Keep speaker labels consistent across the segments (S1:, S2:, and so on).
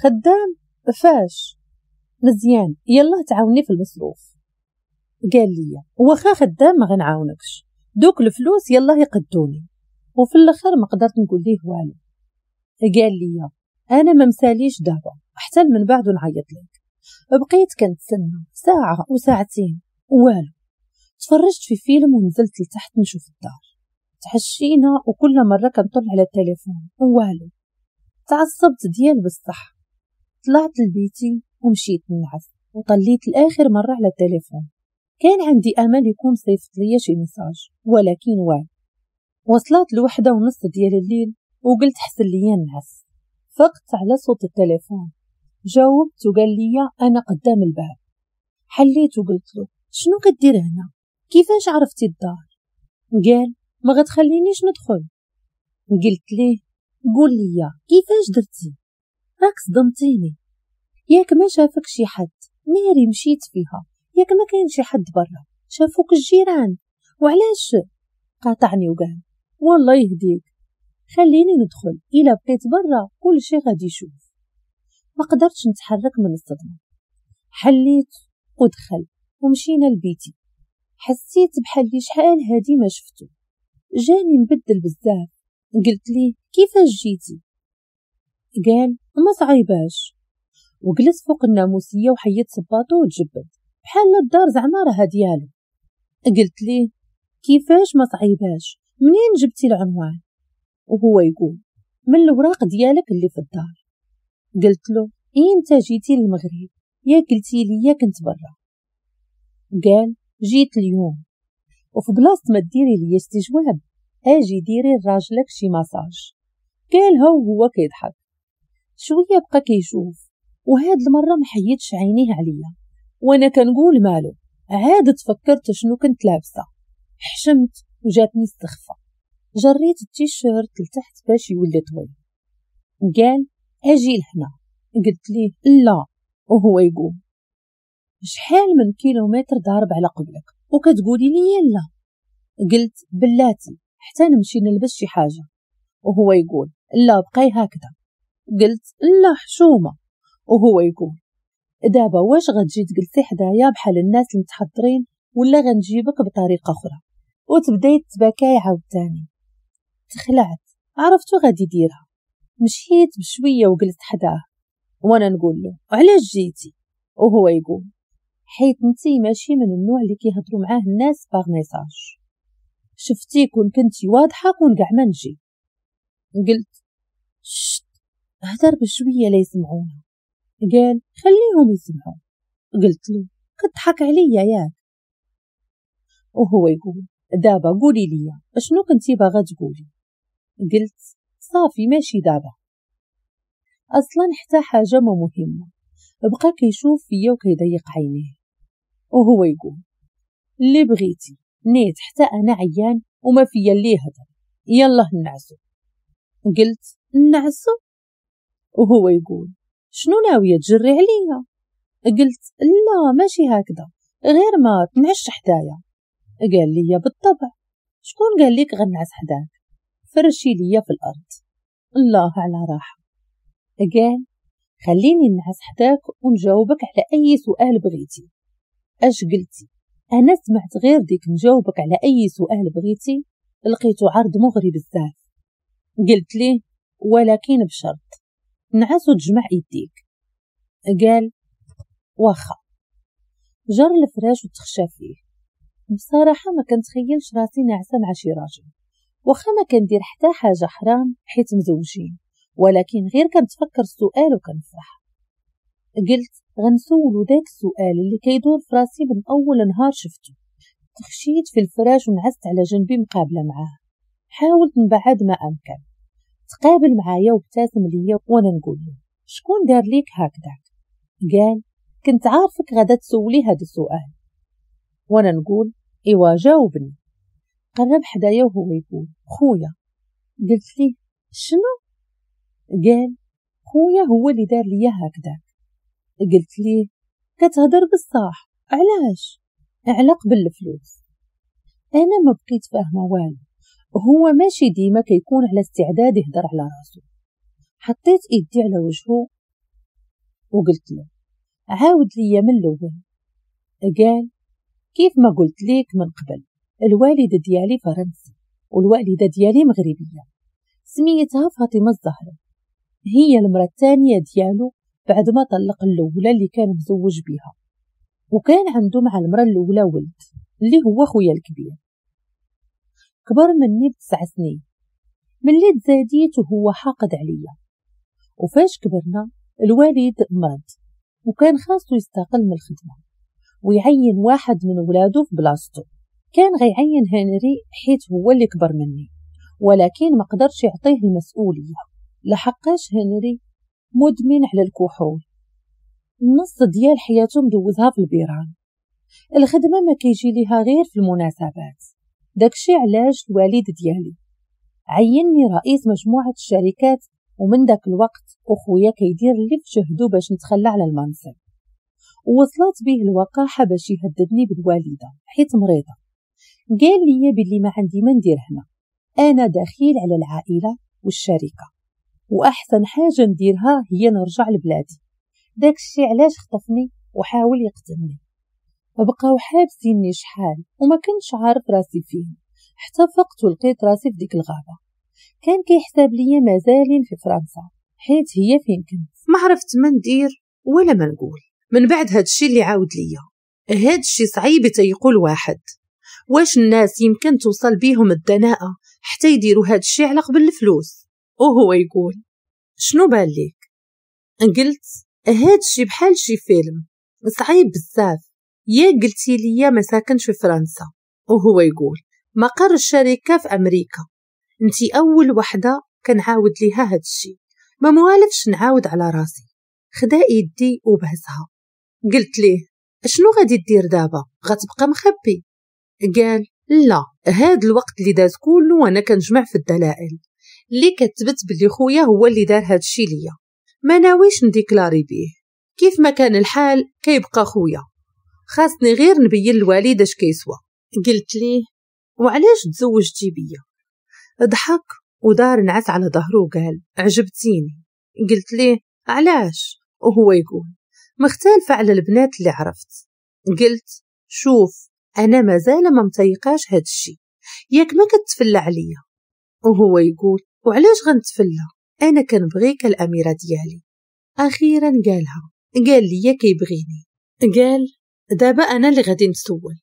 S1: خدام فاش مزيان، يلا تعاوني في المصروف. قال لي واخا خدام ما غنعاونكش، دوك الفلوس يلا يقدوني. وفي الاخر ما قدرت نقول ليه والو. قال لي انا ما مساليش دابا، حتى من بعد نعيط لك. بقيت كنتسنى ساعة وساعتين والو. تفرجت في فيلم ونزلت لتحت نشوف الدار. تحشينا وكل مرة كنطل على التليفون والو. تعصبت ديال بصح. طلعت لبيتي ومشيت نعس وطليت لاخر مرة على التليفون. كان عندي امل يكون صيفط ليا شي message ولكن والو. وصلت 1:30 ديال الليل وقلت حسن ليا نعس. فقت على صوت التليفون، جاوبت وقال لي انا قدام الباب. حليت وقلت له شنو كدير هنا؟ كيفاش عرفتي الدار؟ قال ما غتخلينيش ندخل. قلت ليه قول لي كيفاش درتي؟ راك صدمتيني، ياك ما شافك شي حد؟ ناري مشيت فيها، ياك ما كاين شي حد برا، شافوك الجيران وعلاش؟ قاطعني وقال والله يهديك خليني ندخل، الا بقيت برا كل شي غادي يشوف. ما قدرتش نتحرك من الصدمة. حليت ودخل ومشينا لبيتي. حسيت بحال لي شحال هادي ما شفتو، جاني مبدل بزاف. قلت ليه كيفاش جيتي؟ قال ما صعيباش. وجلس فوق الناموسيه وحيد صباطو وتجبد بحال الدار زعما راها ديالو. قلت ليه كيفاش ما صعيباش؟ منين جبتي العنوان؟ وهو يقول من الوراق ديالك اللي في الدار. قلت له امتى جيتي للمغرب؟ يا قلتي لي كنت برا. قال جيت اليوم. وفي بلاصة ما ديري لي استجواب اجي ديري لراجلك شي ماساج. قالها وهو كيضحك. شوية بقى كيشوف، وهاد المرة ما حيدش عينيه عليا وانا كنقول مالو. عاد تفكرت شنو كنت لابسه، حشمت وجاتني السخفه. جريت التيشيرت لتحت باش يولي طويل. قال اجي لهنا. قلت ليه لا، وهو يقول شحال من كيلومتر ضارب على قبلك وكتقولي لي لا؟ قلت بلاتي حتى نمشي نلبس شي حاجة. وهو يقول لا بقاي هكذا. قلت لا حشومه. وهو يقول دابا واش غتجي تجلسي حدايا بحال الناس المتحضرين ولا غنجيبك بطريقة اخرى؟ وتبداي تباكاي عاوتاني. تخلعت، عرفتو غادي يديرها. مشيت بشوية وجلست حداه وانا نقول له علاش جيتي؟ وهو يقول حيت انتي ماشي من النوع اللي كيهضروا معاه الناس par message، شفتي كون كنتي واضحة كون كاع ما نجي. قلت chut هدر بشوية لا يسمعونا. قال خليهم يسمعوا. قلت له كتضحك عليا ياك؟ وهو يقول دابا قولي لي شنو كنتي باغا تقولي؟ قلت صافي ماشي دابا، اصلا حتى حاجة ما مهمة. بقى كيشوف فيا وكيضيق عينيه وهو يقول اللي بغيتي، نيت حتى انا عيان وما فيا اللي يهضر، يلا نعسو. قلت نعسو؟ وهو يقول شنو ناوية تجري عليا؟ قلت لا ماشي هكذا، غير ما تنعش حدايا. قال لي بالطبع، شكون قال لك غنعس حداك؟ فرشي ليا في الارض. الله على راحة. قال خليني نعس حداك ونجاوبك على اي سؤال بغيتي. اش قلتي؟ انا سمعت غير ديك نجاوبك على اي سؤال بغيتي، لقيتو عرض مغري بزاف. قلت ليه ولكن بشرط نعس وتجمع يديك. قال واخا. جر الفراش وتخشى فيه. بصراحة ما كنتخيلش راسي ناعسه مع شي راجل، واخا ما كندير حتى حاجة حرام حيت مزوجين، ولكن غير كنتفكر السؤال وكنفرح. قلت غنسولو داك السؤال اللي كيدور في راسي من اول نهار شفتو. تخشيت في الفراش ونعست على جنبي مقابله معاه. حاولت نبعد ما امكن. تقابل معايا وابتسم ليا وانا نقول له شكون دار ليك هكذاك؟ قال كنت عارفك غدا تسولي هذا السؤال. وانا نقول ايوا جاوبني. قرب حدايا وهو يقول خويا. قلت ليه شنو؟ قال خويا هو اللي دار ليا هكذاك. قلت ليه كتهضر بصح؟ علاش؟ على قبل الفلوس. انا ما بقيت فاهمه والو، هو ماشي ديما كيكون على استعداد يهضر على راسو. حطيت ايدي على وجهه وقلت له عاود ليا من الاول. قال كيف ما قلت ليك من قبل، الوالد ديالي فرنسي والوالدة ديالي مغربية، سميتها فاطمة الزهراء، هي المرأة الثانية ديالو بعد ما طلق الاولى اللي كان مزوج بها، وكان عنده مع المرأة الاولى ولد اللي هو خويا الكبير، كبر مني ب9 سنين. ملي تزاديت وهو حاقد عليا، وفاش كبرنا الوالد مرض وكان خاصو يستقل من الخدمة ويعين واحد من ولادو في بلاصتو. كان غيعين هنري حيت هو اللي كبر مني، ولكن ما قدرش يعطيه المسؤولية لحقاش هنري مدمن على الكحول، النص ديال حياته مدوزها في البيران، الخدمة ما كيجي ليها غير في المناسبات. داكشي علاش الوالد ديالي عينني رئيس مجموعة الشركات، ومن داك الوقت وخويا كيدير اللي في جهدو باش نتخلى على المنصب. ووصلت به الوقاحة باش يهددني بالوالدة حيت مريضة. قال لي باللي ما عندي ما ندير هنا، أنا دخيل على العائلة والشركة، وأحسن حاجة نديرها هي نرجع لبلادي. داكشي علاش خطفني وحاول يقتلني. بقاو حابسيني شحال وما كنتش عارف راسي فين، حتى فقت ولقيت راسي في ديك الغابة. كان كيحساب ليا مازالين في فرنسا حيت هي فين كنت. ما عرفت ما ندير ولا ما نقول من بعد هادشي اللي عاود ليا. هادشي صعيب تيقول واحد، واش الناس يمكن توصل بيهم الدناءة حتى يديروا هادشي على قبل الفلوس؟ وهو يقول شنو بان ليك؟ قلت هادشي بحال شي فيلم صعيب بزاف، يا قلتي ليا ما ساكنش في فرنسا. وهو يقول مقر الشركة في أمريكا، انتي أول وحدة كنعاود ليها هادشي، ما موالفش نعاود على راسي. خدا يدي وبهزها. قلت ليه شنو غادي دير دابا، غتبقى مخبي؟ قال لا، هاد الوقت اللي داز كله وانا كنجمع في الدلائل اللي كتبت بلي خويا هو اللي دار هادشي ليا، ما ناويش نديكلاري بيه، كيف ما كان الحال كيبقى خويا، خاصني غير نبين الوالد اش كيسوى. قلت ليه وعلاش تزوجتي بيا؟ ضحك ودار نعس على ظهره وقال عجبتيني. قلت ليه علاش؟ وهو يقول مختلفة على البنات اللي عرفت. قلت شوف أنا مازال ما متيقاش هاد الشي، ياك ما كتفلى عليا؟ وهو يقول وعلاش غنتفلى، أنا كنبغيك الأميرة ديالي. أخيرا قالها، قال لي كيبغيني. قال دابا أنا اللي غادي نسول.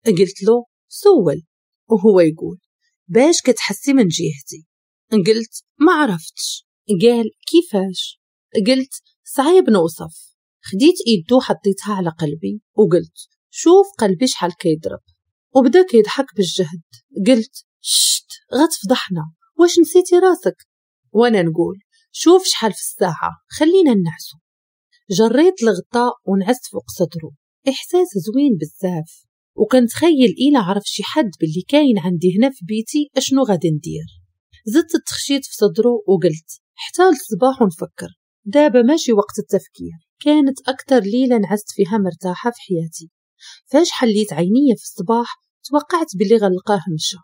S1: قلت له سول. وهو يقول باش كتحسي من جهتي؟ قلت ما عرفتش. قال كيفاش؟ قلت صعيب نوصف. خديت ايدو حطيتها على قلبي وقلت شوف قلبي شحال كيضرب، وبدا كيضحك بالجهد. قلت شت غتفضحنا، واش نسيتي راسك؟ وانا نقول شوف شحال في الساعة، خلينا نعسو. جريت الغطاء ونعست فوق صدره، احساس زوين بزاف. وكنتخيل إلا عرف شي حد باللي كاين عندي هنا في بيتي اشنو غادي ندير. زدت التخشيت في صدره وقلت حتى الصباح ونفكر، دابا ماشي وقت التفكير. كانت أكثر ليلة نعست فيها مرتاحة في حياتي. فاش حليت عيني في الصباح توقعت باللي غنلقاه مشى،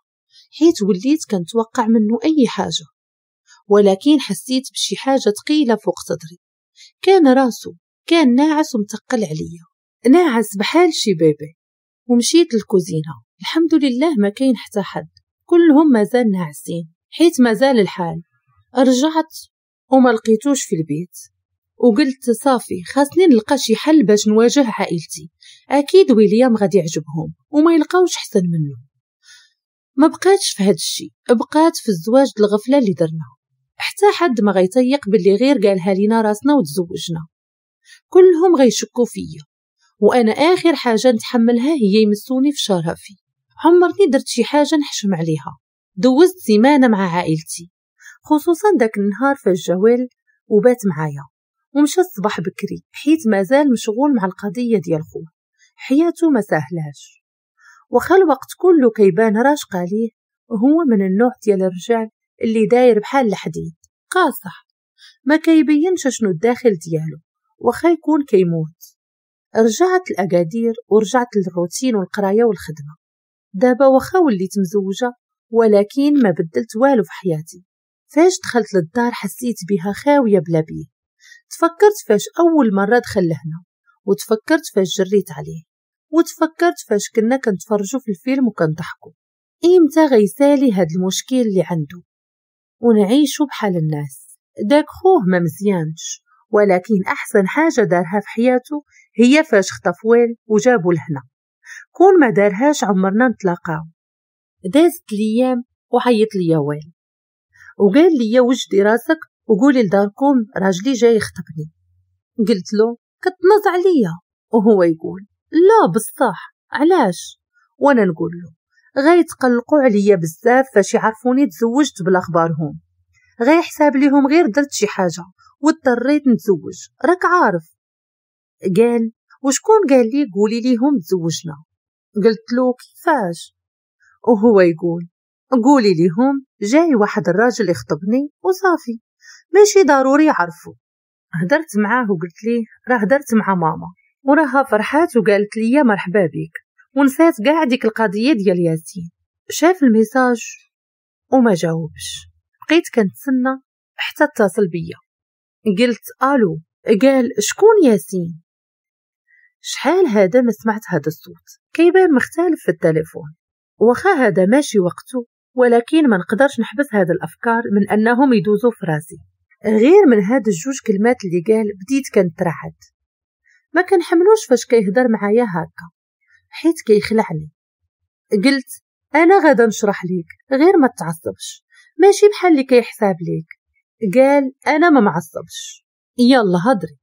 S1: حيت وليت كنتوقع منه أي حاجة، ولكن حسيت بشي حاجة ثقيلة فوق صدري. كان راسه كان ناعس ومتقل عليا، ناعس بحال شي bébé. ومشيت للكوزينة، الحمد لله ما كاين حتى حد، كلهم مازال ناعسين حيت مازال الحال. رجعت وما لقيتوش في البيت، وقلت صافي خاصني نلقى شي حل باش نواجه عائلتي، اكيد ويليام غادي يعجبهم وما يلقاوش حسن منه. ما بقاتش في هاد الشيء، بقات في الزواج الغفلة اللي درنا، حتى حد ما غيطيق باللي غير قالها لينا راسنا وتزوجنا، كلهم غيشكوا فيا، وانا اخر حاجة نتحملها هي يمسوني في شرفي. عمرني درت شي حاجة نحشم عليها. دوزت سيمانه مع عائلتي، خصوصا داك النهار في الجوال وبات معايا، ومشى الصباح بكري حيت مازال مشغول مع القضية ديال خوه، حياته ما سهلاش. وخا الوقت كله كيبان راشقه ليه، هو من النوع ديال الرجال اللي داير بحال الحديد، قاصح، ما كيبينش شنو الداخل ديالو وخا يكون كيموت. رجعت لأكادير ورجعت للروتين والقرايه والخدمة. دابا واخا وليت مزوجه ولكن ما بدلت والو في حياتي. فاش دخلت للدار حسيت بها خاوية بلا بيه. تفكرت فاش اول مرة دخل لهنا، وتفكرت فاش جريت عليه، وتفكرت فاش كنا كنتفرجوا في الفيلم وكنضحكوا. امتى غيسالي هاد المشكل اللي عنده ونعيشوا بحال الناس؟ داك خوه ما مزيانش، ولكن احسن حاجة دارها في حياته هي فاش خطف ويل وجابوا لهنا. كون ما دارهاش عمرنا نتلاقاو. دازت الايام وعيط ليا ويل وقال لي وجدي راسك وقولي لداركم راجلي جاي يخطبني. قلت له كتنز عليا، وهو يقول لا بصح علاش؟ وانا نقول له غيتقلقوا عليا بزاف فاش يعرفوني تزوجت بلا اخبارهم، غيحساب ليهم غير درت شي حاجة واضطريت نتزوج، راك عارف. قال وشكون قال لي قولي ليهم تزوجنا؟ قلت له كيفاش؟ وهو يقول قولي ليهم جاي واحد الراجل يخطبني وصافي، ماشي ضروري يعرفوا. هدرت معاه وقلت ليه راه هدرت مع ماما وراها فرحات وقالت لي مرحبا بك، ونسات كاع ديك القضية ديال ياسين. شاف ال message وما جاوبش. بقيت كنتسنى حتى اتصل بيا. قلت الو. قال شكون ياسين؟ شحال هذا ما سمعت هذا الصوت، كيبان مختلف في التليفون. واخا هذا ماشي وقته، ولكن ما نقدرش نحبس هذا الافكار من انهم يدوزوا في راسي. غير من هاد الجوج كلمات اللي قال بديت كنترعد. ما كنحملوش فاش كيهضر معايا هكا حيت كيخلعني. قلت انا غادا نشرح ليك غير ما تعصبش، ماشي بحال اللي كيحساب ليك. قال انا ما معصبش، يلا هضري.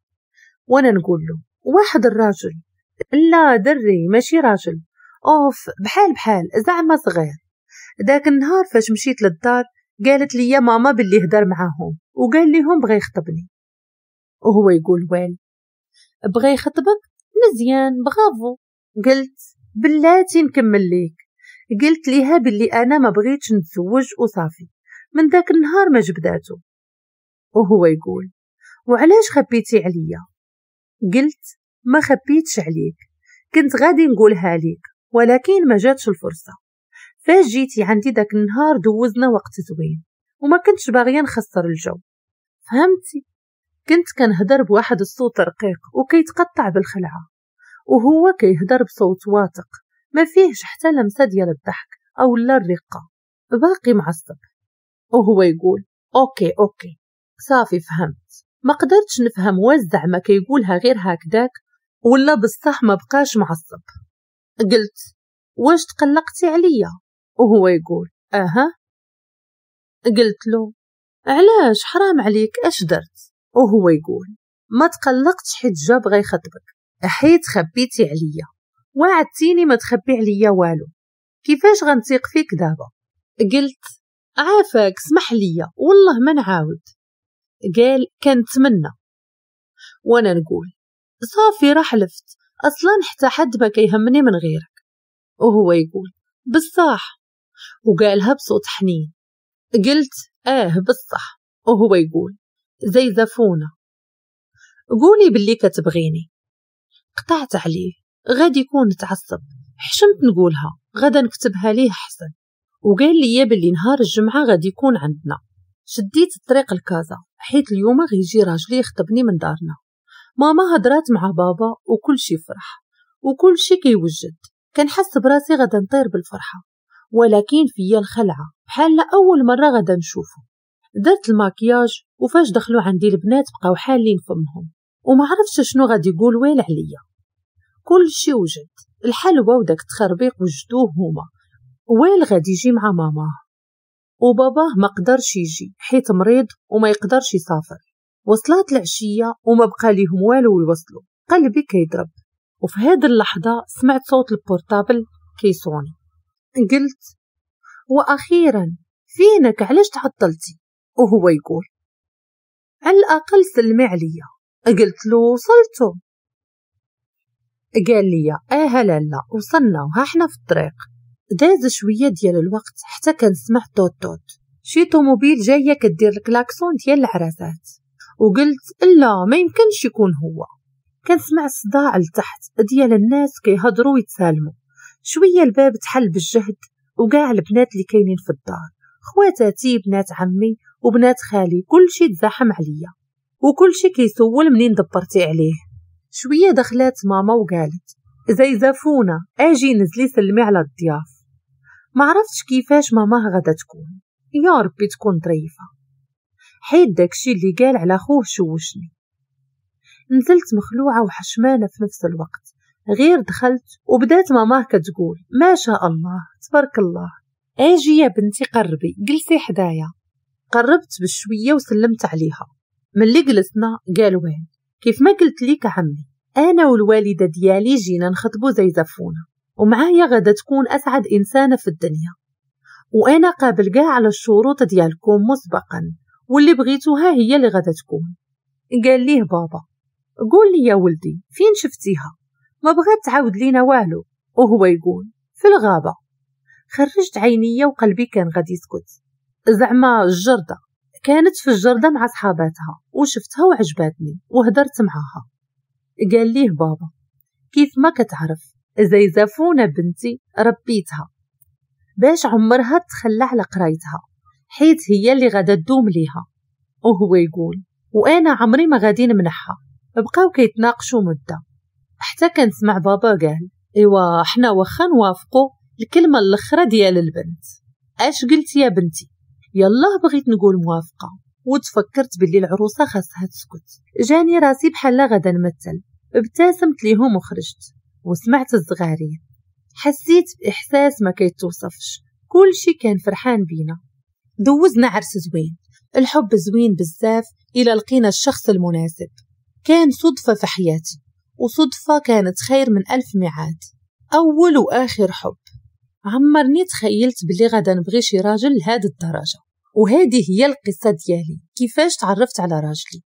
S1: وانا نقول له واحد الراجل، لا دري ماشي راجل، اوف بحال بحال زعما صغير. داك النهار فاش مشيت للدار قالت لي ماما باللي هدر معاهم وقال لهم بغى يخطبني. وهو يقول ويل بغى يخطبك؟ مزيان بغافو. قلت بلاتي نكمل ليك. قلت ليها باللي انا ما بغيتش نتزوج وصافي. من داك النهار ما جبداتو. وهو يقول وعلاش خبيتي عليا؟ قلت ما خبيتش عليك، كنت غادي نقولها ليك ولكن ما جاتش الفرصة. فاش جيتي عندي داك النهار دوزنا وقت زوين وما كنتش باغية نخسر الجو، فهمتي؟ كنت كنهدر بواحد الصوت رقيق وكيتقطع بالخلعه، وهو كيهدر بصوت واثق ما فيهش حتى لمسه ديال الضحك او لا الرقة، باقي معصب. وهو يقول okay okay صافي فهمت. ما قدرتش نفهم واش زعما كيقولها غير هكداك ولا بصح ما بقاش معصب. قلت واش تقلقتي عليا؟ وهو يقول اها. قلت له علاش حرام عليك اش درت؟ وهو يقول ما تقلقتش حيت جا بغى يخطبك، حيت خبيتي عليا، وعدتيني ما تخبي عليا والو، كيفاش غنثيق فيك دابا؟ قلت عافاك اسمح ليا والله ما نعاود. قال كنتمنى. وانا نقول صافي راه حلفت، اصلا حتى حد ما كيهمني من غيرك. وهو يقول بصح، وقالها بصوت حنين. قلت اه بصح. وهو يقول زي زفونه، قولي باللي كتبغيني. قطعت عليه، غادي يكون تعصب، حشمت نقولها، غدا نكتبها ليه حسن. وقال لي باللي نهار الجمعة غادي يكون عندنا. شديت الطريق لكازا حيت اليوم غيجي راجلي يخطبني من دارنا. ماما هضرات مع بابا وكل شي فرح وكل شي كيوجد. كنحس براسي غدا نطير بالفرحه، ولكن فيا الخلعة بحال اول مرة غدا نشوفه. درت الماكياج وفاش دخلوا عندي البنات بقاو حالين فمهم وما عرفتش شنو غادي يقول ويل عليا. كل شي وجد، الحلوة وداك التخربيق وجدوه هما. ويل غادي يجي مع ماماه، وباباه ما قدرش يجي حيت مريض وما يقدرش يسافر. وصلت العشية وما بقى ليهم والو يوصلوا. قلبي كيضرب، وفي هذه اللحظة سمعت صوت ال portable كيصوني. قلت واخيرا فينك، علاش تعطلتي؟ وهو يقول على الاقل سلمي عليا. قلت له وصلتو؟ قال لي اه لا لا وصلنا وها حنا في الطريق. داز شوية ديال الوقت حتى كنسمع توت توت شي طوموبيل جاية كدير الكلاكسون ديال العراسات، وقلت لا ما يمكنش يكون هو. كنسمع الصداع لتحت ديال الناس كيهضروا ويتسالموا. شوية الباب تحل بالجهد وكاع البنات اللي كاينين في الدار، خواتاتي بنات عمي وبنات خالي، كلشي تزاحم عليا. وكل شي كيسول منين دبرتي عليه. شوية دخلات ماما وقالت زيزفونه اجي نزلي سلمي على الضياف. ما عرفتش كيفاش ماماه غادا تكون، يا ربي تكون ظريفة، حيت داكشي اللي قال على خوه شوشني. نزلت مخلوعه وحشمانه في نفس الوقت. غير دخلت وبدات ماماه كتقول ما شاء الله تبارك الله، اجي يا بنتي قربي جلسي حدايا. قربت بشوية وسلمت عليها. ملي جلسنا قال وين كيف ما قلت ليك عمي، انا والوالدة ديالي جينا نخطبو زيزفونه، ومعايا غادا تكون اسعد انسانه في الدنيا، وانا قابل كاع على الشروط ديالكم مسبقا، واللي بغيتوها هي اللي غادا تكون. قال ليه بابا قول لي يا ولدي فين شفتيها؟ ما بغات تعاود لينا والو. وهو يقول في الغابة. خرجت عينيا وقلبي كان غادي يسكت. زعما الجردة، كانت في الجردة مع صحاباتها وشفتها وعجباتني وهدرت معاها. قال ليه بابا كيف ما كتعرف زيزفونة بنتي ربيتها باش عمرها تخلى على قرايتها، حيت هي اللي غادا تدوم ليها. وهو يقول وانا عمري ما غادي نمنحها. بقاو كيتناقشوا مدة حتى كنسمع بابا قال ايوا حنا واخا نوافقوا الكلمة الاخرى ديال البنت. اش قلت يا بنتي؟ يلا بغيت نقول موافقة وتفكرت باللي العروسة خاصها تسكت. جاني راسي بحال غدا نمثل. ابتسمت ليهم وخرجت وسمعت الزغارين. حسيت باحساس ما كيتوصفش، كل شي كان فرحان بينا. دوزنا عرس زوين، الحب زوين بزاف الى لقينا الشخص المناسب. كان صدفة في حياتي، وصدفه كانت خير من 1000 ميعاد. اول واخر حب. عمرني تخيلت بلي غادا نبغي شي راجل لهاد الدرجة. وهذه هي القصة ديالي كيفاش تعرفت على راجلي.